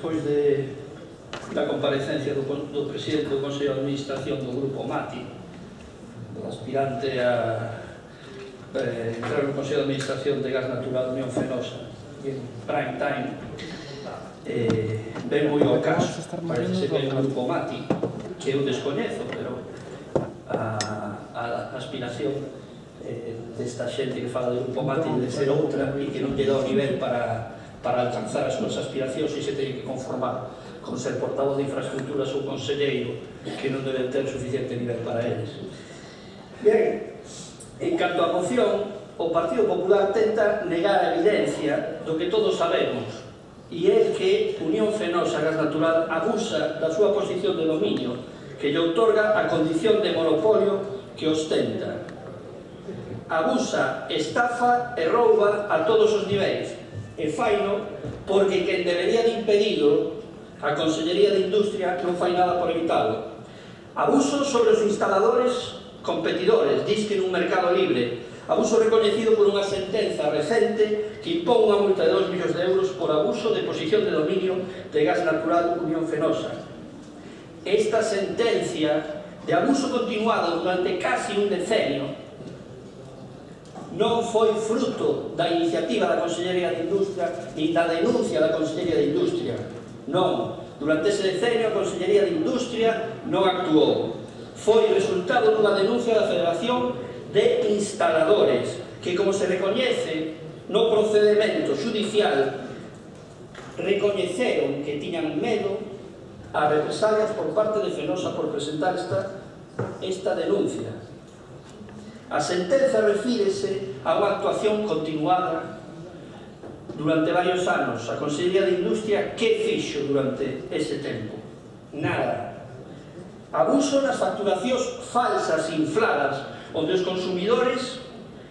despois da comparecencia do presidente do Consello de Administración do Grupo Mati, do aspirante a entrar no Consello de Administración de Gas Natural Unión Fenosa en prime time, ven moi ao caso. Parece ser que hai un Grupo Mati que eu descoñezo, pero a aspiración desta xente que fala do Grupo Mati de ser outra e que non lle dá o nivel para alcanzar as súas aspiracións e se teñen que conformar con ser portavoz de infraestructuras ou conselleiro que non deben ter suficiente nivel para eles. Bien, en canto á moción, o Partido Popular tenta negar a evidencia do que todos sabemos, e é que Unión Fenosa Gas Natural abusa da súa posición de dominio que lle outorga a condición de monopolio que ostenta. Abusa, estafa e rouba a todos os niveis, e faino porque quen debería de impedido, a Consellería de Industria, non fai nada por evitalo. Abuso sobre os instaladores competidores, disque nun mercado libre. Abuso recoñecido por unha sentenza recente que impón unha multa de 2 millóns de euros por abuso de posición de dominio de Gas Natural Unión Fenosa. Esta sentencia de abuso continuado durante casi un decenio non foi fruto da iniciativa da Consellería de Industria ni da denuncia da Consellería de Industria. Non, durante ese decenio a Consellería de Industria non actuou. Foi resultado dunha denuncia da Federación de Instaladores que, como se recoñece no procedimento judicial, recoñeceron que tiñan medo a represalias por parte de Fenosa por presentar esta denuncia. A sentenza refírese a unha actuación continuada durante varios anos. A Consellería de Industria, que fixo durante ese tempo? Nada. Abuso nas facturacións falsas e infladas, onde os consumidores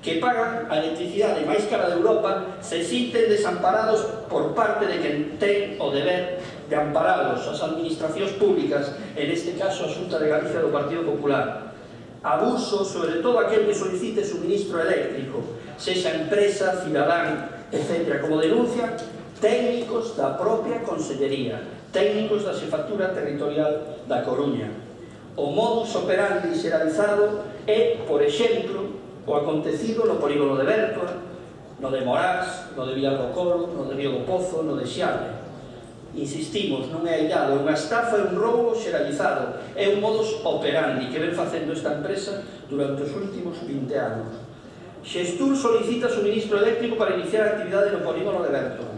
que pagan a electricidade máis cara de Europa se sinten desamparados por parte de quen ten o deber de amparados, as administracións públicas, en este caso a Xunta de Galicia do Partido Popular. Abuso sobre todo aquel que solicite suministro eléctrico, sexa empresa, cidadán, etc. Como denuncia técnicos da propia Consellería, técnicos da Xefatura Territorial da Coruña. O modus operandi xeralizado é, por exemplo, o acontecido no polígono de Bertoa, no de Morás, no de Vilar do Coro, no de Río do Pozo, no de Xiale. Insistimos, non é aillado, é unha estafa e un roubo xeralizado, é un modus operandi que ven facendo esta empresa durante os últimos 20 anos. Xestur solicita suministro eléctrico para iniciar a actividade no polígono de Bertoa.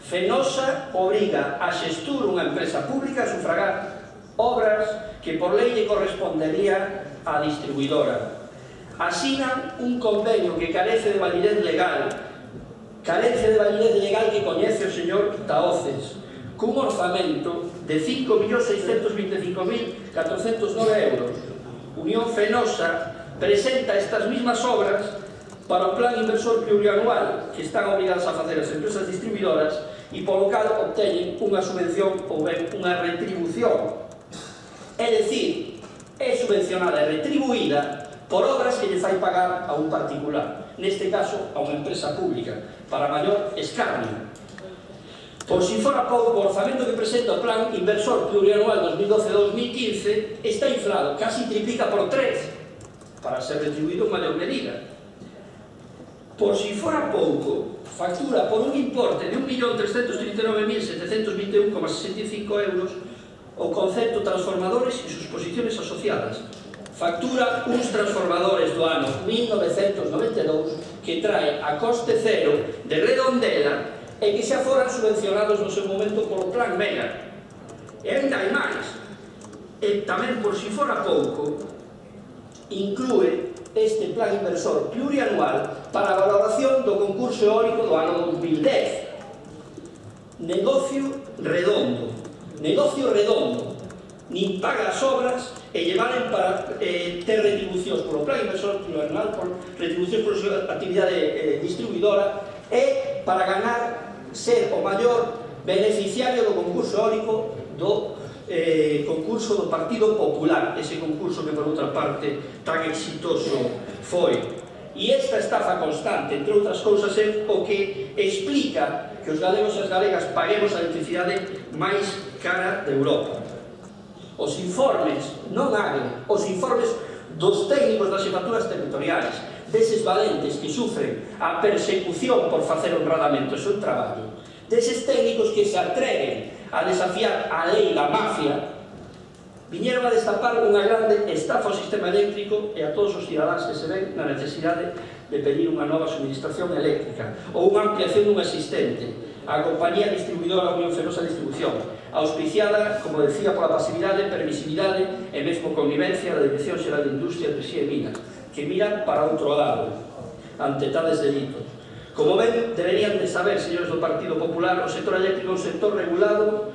Fenosa obriga a Xestur, unha empresa pública, a sufragar obras que por lei lle correspondería á distribuidora. Asinan un convenio que carece de validez legal que coñece o señor Taoces, cun orzamento de 5.625.409 euros. Unión Fenosa presenta estas mismas obras para o plan inversor plurianual que están obrigadas a facer as empresas distribuidoras e polo cal obteñen unha subvención ou ben unha retribución. É dicir, é subvencionada e retribuída por obras que lle fai pagar a un particular, neste caso a unha empresa pública, para maior escarnio. Por si fora pouco, o orzamento que presenta o plan inversor plurianual 2012-2015 está inflado, casi triplica por 3, para ser retribuído en maior medida. Por si fora pouco, factura por un importe de 1.339.721,65 euros o concepto transformadores e sus posiciones asociadas. Factura uns transformadores do ano 1992 que trae a coste cero de Redondela e que xa foran subvencionados no seu momento polo Plan Mega. E ainda hai máis. E tamén, por si fora pouco, inclúe este plan inversor plurianual para a valoración do concurso eólico do ano 2010. Negocio redondo. Nin paga as obras e llevaren para ter retribucións polo plan inversor plurianual, por retribucións por súa actividade distribuidora e para ganar ser o maior beneficiario do concurso eólico do concurso do Partido Popular, ese concurso que por outra parte tan exitoso foi. E esta estafa constante, entre outras cousas, é o que explica que os galegos e as galegas paguemos a electricidade máis cara de Europa. Os informes, non AGE, os informes dos técnicos das xefaturas territoriais, deses valentes que sufren a persecución por facer honradamente o seu traballo, deses técnicos que se atreven a desafiar a lei da mafia, viñeron a destapar unha grande estafa ao sistema eléctrico e a todos os cidadáns que se ven na necesidade de pedir unha nova suministración eléctrica ou unha ampliación dunha existente, a compañía distribuidora Unión Fenosa Distribución, auspiciada, como decía, pola pasividade, permisividade e mesmo connivencia da Dirección Xeral de Industria, Enerxía e Minas, que miran para outro lado, ante tales delitos. Como ven, deberían de saber, señores do Partido Popular, o sector eléctrico é un sector regulado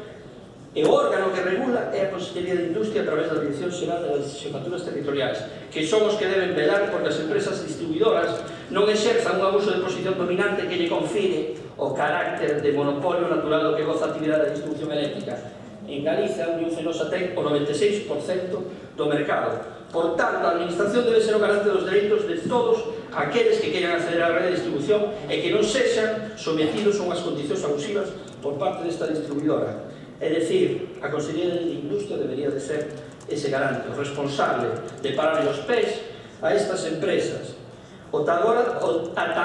e o órgano que regula é a Consellería de Industria a través da Dirección Xeral das Xefaturas Territoriais, que son os que deben velar porque as empresas distribuidoras non exerzan un abuso de posición dominante que lle confire o carácter de monopolio natural do que goza a actividade da distribución eléctrica. En Galicia, a Unión Fenosa ten o 96% do mercado. Por tanto, a administración debe ser o garante dos dereitos de todos aqueles que queiran acceder á rede de distribución e que non sexan sometidos a unhas condicións abusivas por parte desta distribuidora. É dicir, a Consellería de Industria debería de ser ese garante, o responsable de parar os pés a estas empresas. Ata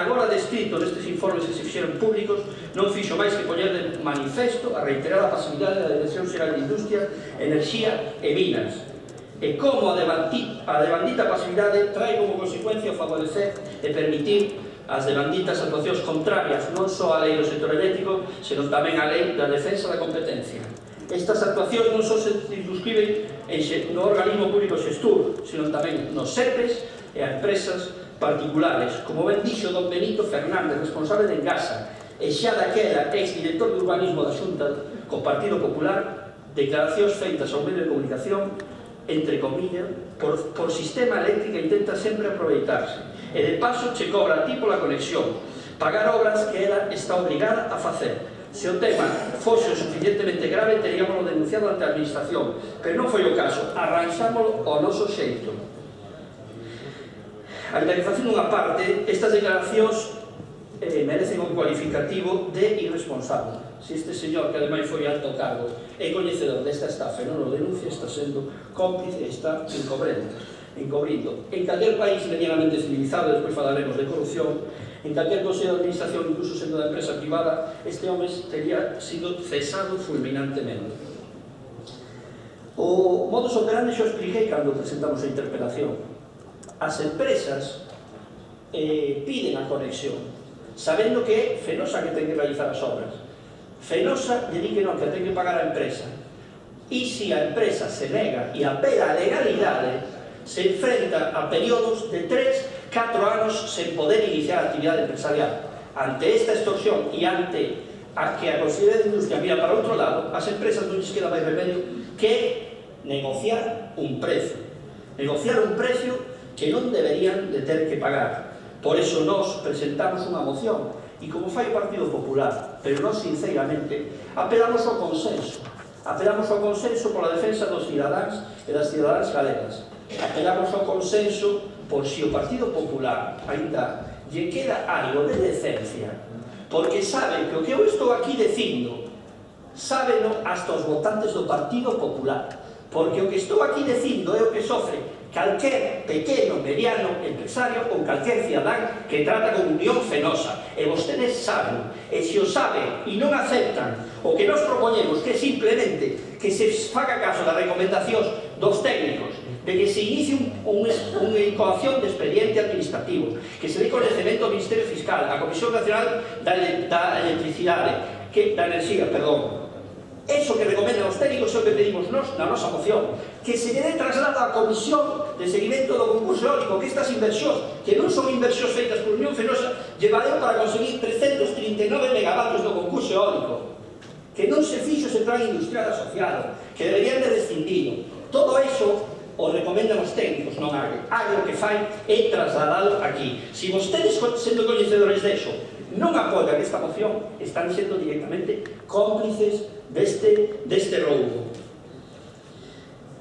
agora descrito nestes informes que se fixeron públicos non fixo máis que poñer de manifesto a reiterada pasividade da Dirección Xeral de Industria, Enerxía e Minas, e como a devandita pasividade trae como consecuencia o favorecer e permitir as devanditas actuacións contrarias non só á lei do sector eléctrico, senón tamén á lei da defensa da competencia. Estas actuacións non só se circunscriben no organismo público xestur, senón tamén nos SEPES e a empresas particulares, como ben dixo don Benito Fernández, responsable de Engasa, e xa daquela ex-director de urbanismo da Xunta co Partido Popular, declaracións feitas ao medio de comunicación, entre comillas, por sistema eléctrica intenta sempre aproveitarse, e de paso che cobra a ti pola conexión, pagar obras que ela está obligada a facer. Se o tema fose suficientemente grave, teríamoslo denunciado ante a administración, pero non foi o caso, arranxámoslo ao noso xeito. A indagación dunha parte, estas declaracións merecen un cualificativo de irresponsable. Se este señor, que ademais foi alto cargo, é coñecedor desta estafa e non o denuncia, está sendo cómplice e está encobrindo. En calquer país medianamente civilizado, despois falaremos de corrupción, en calquer consello de administración, incluso sendo da empresa privada, este home teria sido cesado fulminantemente. O modus operandi xo expliquei cando presentamos a interpelación. As empresas piden a conexión, sabendo que é Fenosa que ten que realizar as obras. Fenosa lle di que non, que ten que pagar a empresa. E se a empresa se nega e apela a legalidade, se enfrenta a períodos de 3-4 anos sen poder iniciar a actividade empresarial. Ante esta extorsión e ante a que a Consellería de Industria mira para outro lado, as empresas non lles queda máis remedio que negociar un precio. Negociar un precio que non deberían de ter que pagar. Por eso nós presentamos unha moción, e como fai o Partido Popular, pero nós sinceramente apelamos ao consenso. Apelamos ao consenso pola defensa dos cidadáns e das cidadáns galegas. Apelamos ao consenso por si o Partido Popular ainda lle queda algo de decencia, porque sabe que o que eu estou aquí dicindo sábeno hasta os votantes do Partido Popular, porque o que estou aquí dicindo é o que sofre calquer pequeno, mediano empresario ou calquer cidadán que trata con Unión Fenosa. E vostedes saben, e se o saben e non aceptan o que nos propoñemos, que é simplemente que se faga caso das recomendacións dos técnicos, de que se inicie unha incoación de expediente administrativo, que se dé coñecemento ao Ministerio Fiscal, á Comisión Nacional da Electricidade, da Enerxía, perdón. Eso que recomendan os técnicos é o que pedimos nós na nosa moción, que se lle dé traslado á Comisión de Seguimento do Concurso Eólico, que estas inversións, que non son inversións feitas por Unión Fenosa, llevareu para conseguir 339 megavatios do concurso eólico, que non se fixo ese plan industrial asociado, que deberían de rescindido. Todo eso o recomendan os técnicos, non AGE. AGE o que fai é trasladado aquí. Se vostedes, sendo coñecedores deso, non apoian esta moción, están sendo directamente cómplices deste roubo.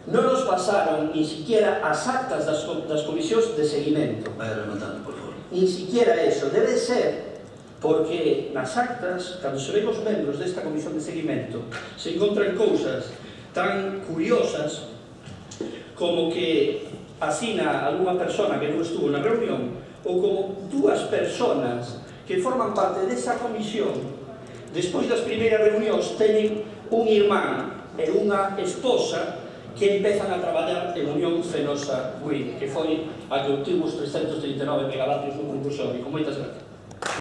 Non nos pasaron ni siquiera as actas das comisións de seguimento. Vai rematando, por favor. Ni siquiera eso. Debe ser porque nas actas, cando se ven os membros desta comisión de seguimento, se encontran cousas tan curiosas como que asina algunha persona que non estuvo na reunión, ou como dúas personas que forman parte desa comisión, despois das primeiras reunións, teñen un irmán e unha esposa que empezan a traballar en Unión Fenosa Wind, que foi a que obtivo os 339 megavatios no concurso eólico. Moitas gracias.